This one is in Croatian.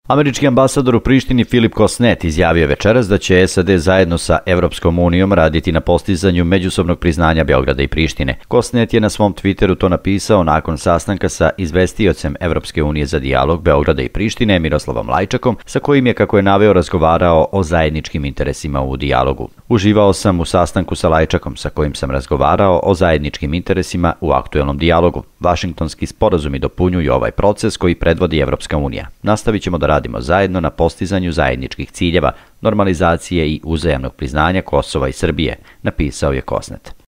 Američki ambasador u Prištini Filip Kosnet izjavio je večeras da će SAD zajedno sa Evropskom unijom raditi na postizanju međusobnog priznanja Beograda i Prištine. Kosnet je na svom Twitteru to napisao nakon sastanka sa izvestiocem Evropske unije za dijalog Beograda i Prištine Miroslavom Lajčakom, sa kojim je, kako je naveo, razgovarao o zajedničkim interesima u dijalogu. Uživao sam u sastanku sa Lajčakom, sa kojim sam razgovarao o zajedničkim interesima u aktuelnom dijalogu. Vašingtonski sporazumi dopunjuju ovaj proces koji predvodi Evropska unija. Nastavit ćemo da radimo zajedno na postizanju zajedničkih ciljeva, normalizacije i uzajamnog priznanja Kosova i Srbije, napisao je Kosnet.